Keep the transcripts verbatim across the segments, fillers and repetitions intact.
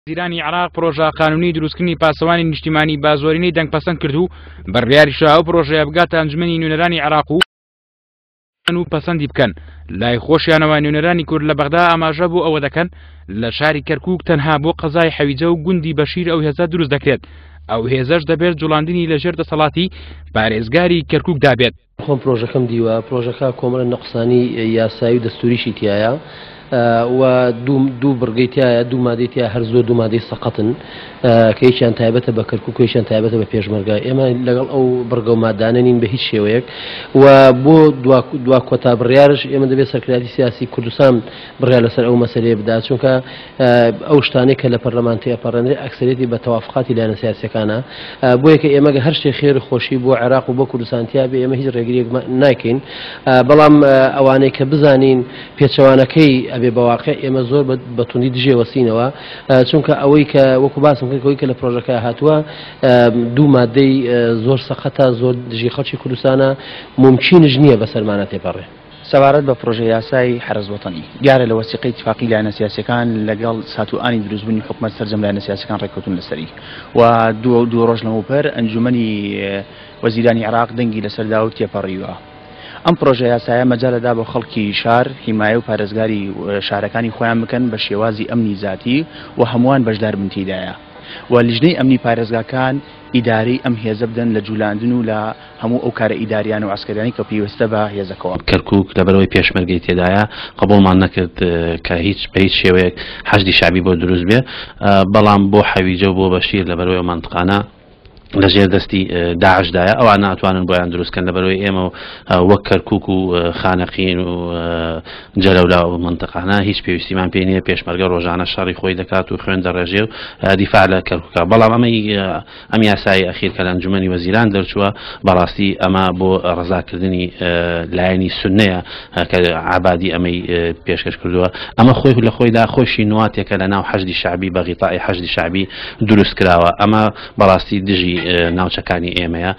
وەزیرانی عێراق پرۆژە قانونی دروستکردنی پاسەوانی نیشتیمانی بە زۆرینەی دەنگ پەسەند کرد و بڕیاریشە ئەو پرۆژەیە بگاتە ئەنجومەنی نوێنەرانی عێراق و پەسەندی بکەن. لای خۆشیانەوە نوێنەرانی کورد لە بەغدا ئاماژە بۆ ئەوە دەکەن لە شاری کەرکوک تەنها بۆ قەزای حەویجە و گوندی بەشیر ئەو هێزە دروست دەکرێت. ئەو هێزەش دەبێت جوڵاندنی لەژێر دەسەڵاتی پارێزگاری کەرکوکدا بێت. خۆم پرۆژەکەم دیوە، پرۆژەکە کۆمەڵە نەقسانی یاسایی و دەستوریشی تایە و دوو بڕگەی تایە، دوو مادەی تایە، هەر زۆر دوو مادەی سەقەتن کە یەکیان تایبەتە بە کەرکوک و یەکیان تایبەتە بە پێشمەرگە. ئێمە لەگەڵ ئەو بڕگە و مادانە نین بە هیچ شێوەیەک و بۆ دوا کۆتا بڕیارش ئێمە دەبێت سەرکردایەتی سیاسی کوردستان بڕیار لەسەر ئەو مەسەلەیە بدات، چونکە ئەو شتانەی کە لە پەرلەمان تێپەڕێنرێ ئەکسەرێتی بە تەوافقاتی لایەنە سیاسیەکانە. بۆیە کە ئێمە هەر شتێک خێر خۆشی بۆ عێراق و بۆ کوردستان تیا بێ ئێمە هیچ ڕێگریەک ناکەین، بەڵام ئەوانەی کە بزانین پێچەوانەکەی ئەبێ بەواقع ئێمە زۆر بە توندی دژێ وەسینەوە، چونکە ئەوەی کە وەکو باسم کرد ئەوەی کە لە پرۆژەکە هاتووە دوو مادەی زۆر سەقەتە، زۆر دژی خەڵکی کوردستانە، ممکنش نییە بەسەرمانە تێپەڕێ. سەبارەت بە پرۆژە یاسای حەرەس وەتەنی دیارە لە وەسیقەی اتفاقی لایەنە سیاسیەکان لەگەڵ ساتوئانی دروستبوونی حکومەت سەرجەم لایەنە سیاسیەکان ڕێککەوتون لەسەری و دوو دوو ڕۆژ لەمەوبەر ئەنجومەنی وەزیرانی عێراق دەنگی لەسەردا و تێپەڕیوە. ئەم پرۆژە یاسایە مەجالەدا بۆ خەڵکی شار حیمایە و پارێزگاری شارەکانی خۆیان بکەن بە شێوازی ئەمنی زاتی و هەمووان بەشدار بن تێدایە و لیژنەی ئەمنی پارێزگاکان ئیدارەی ئەم هێزە بدەن لە جولاندن و لە هەموو ئەو کارە ئیداریان و عسکەریانی کە پێویستە بە هێزەکەوە. کەرکوک لەبەرەوەی پێشمەرگەی تێدایە قبوڵمان نەکرد کە هیچ بە هیچ شێوەیەک حەشدی شەعبی بۆ دروست بێ، بەڵام بۆ حەویجە و بۆ بەشیر لەبەرەوەی ئەو مەنتقانە لەژێر دەستی داعشدایە ئەوان ناتوانن بۆیان دروستکەن. لەبەرەوەی ئێمە وەک کەرکوک و خانەقین و جەلەولا و منطقانە هیچ پێویستیمان پێ نییە. پێشمەرگە ڕۆژانە شەڕی خۆی دەکات و خوێن دەڕێژێ و دیفاع لە کەرکوکە. بەڵام ئەمەی ئەم یاسایی ئەخیر کە لە ئەنجومەنی وەزیران دەرچووە بەڕاستی ئەمە بۆ ڕەزاکردنی لایەنی سوننەیە کە عابادی ئەمەی پێشکەش کردووە. ئەمە خۆی لە خۆیدا خۆشی نواتێکە لە ناو حەشدی شەعبی بە غیتای حەشدی شەعبی دروست کراوە. ئەمە بەڕاستی دژی ناوچەکانی ئێمەیە،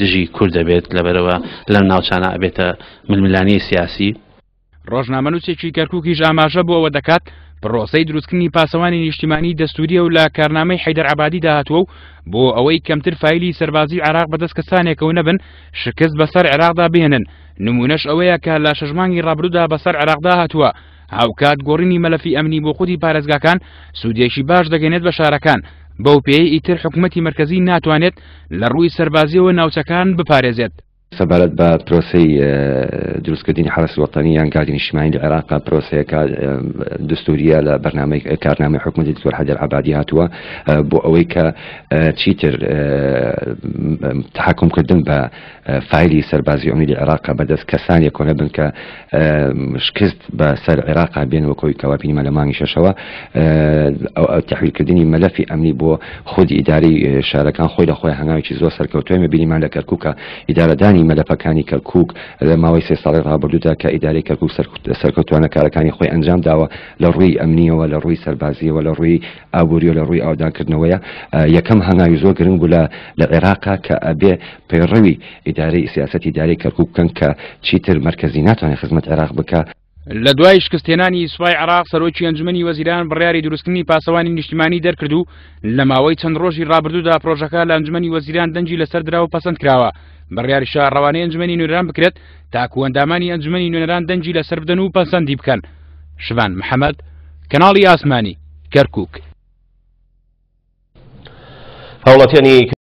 دژی کورد دەبێت، لەبەرەوە لەم ناوچانە ئەبێتە ململانێی سیاسی. ڕۆژنامەنووسێکی کەرکوکیش ئاماژە بۆ ئەوە دەکات پرۆسەی دروستکردنی پاسەوانی نیشتیمانی دەستوریە و لە کارنامەی حەیدەر عەبادیدا هاتووە و بۆ ئەوەی کەمتر فایلی سەربازی عێراق بەدەست کەسانێکەوە نەبن شکست بەسەر عێراقدا بهێنن. نمونەش ئەوەیە کە لە شەش مانگی ڕابردوودا بەسەر عێراقدا هاتووە. هاوکات گۆڕینی مەلەفی ئەمنی بۆ خودی پارێزگاکان سوودێکی باش دەگەێنێت بە شارەکان، بەو پێی ئیتر حکوومەتی مەرکەزی ناتوانێت لە ڕووی سەربازیەوە ناوچەکان بپارێزێت. سەبارەت بە پرۆسەی دروستکردنی حەرەسی وەتەنی یان گاردی نیشتیمانی لە عێراق، پرۆسەیەکە دەستوریە لە بەرنامەی کارنامەی حکوومەتی دکتۆر حەیدەر عەبادی هاتووە بۆ ئەوەی کە چیتر تحکمکردن بە فایلی سەربازی ئەمنی لە عێراق بەدەست کەسانێک کۆنە بن کە شکست بە سەر عێراق بێن وەکەوەی کەوا بینیمان لە مانگی شەشەوە. تحویلکردنی مەلەفی ئەمنی بۆ خودی ئیداری شارەکان خۆی لە خۆی هەنگاوێکی زۆر سەرکەوتووە. بینیمان لە کەرکووکە ئیدارەدانی مەلەفەکانی کەرکوک لە ماوەی سێ ساڵی ڕابردوودا کە ئیدارەی کەرکوک سەرکەوتوانە کارەکانی خۆی ئەنجام داوە لە ڕووی ئەمنیەوە، لە ڕووی سەربازیەوە، لە ڕووی ئابووریەوە، لە ڕووی ئاودانکردنەوەیە. یەکەم هەنگاوی زۆر گرنگ بوو لە عێراقا کە ئەبێ پەیڕەوی ئیدارەی سیاسەتی ئیدارەی کەرکوک بکەن کە چیتر مەرکەزی ناتوانێت خزمەت عێراق بکە. لە دوای شکستهێنانی سوپای عێراق سەرۆکی ئەنجومەنی وەزیران بڕیاری دروستکردنی پاسەوانی نیشتیمانی دەرکرد و لە ماوەی چەند ڕۆژی ڕابردوودا پرۆژەکە لە ئەنجومەنی وەزیران دەنگی لەسەر درا و پەسەند کراوە. بڕیاریشە ڕەوانەی ئەنجومەنی نوێنەران بکرێت تاکو ئەندامانی ئەنجومەنی نوێنەران دەنگی لەسەر بدەن و پەسەندی بکەن. شڤان محەممەد، کەناڵی ئاسمانی، کەرکوک. هاوڵاتیانی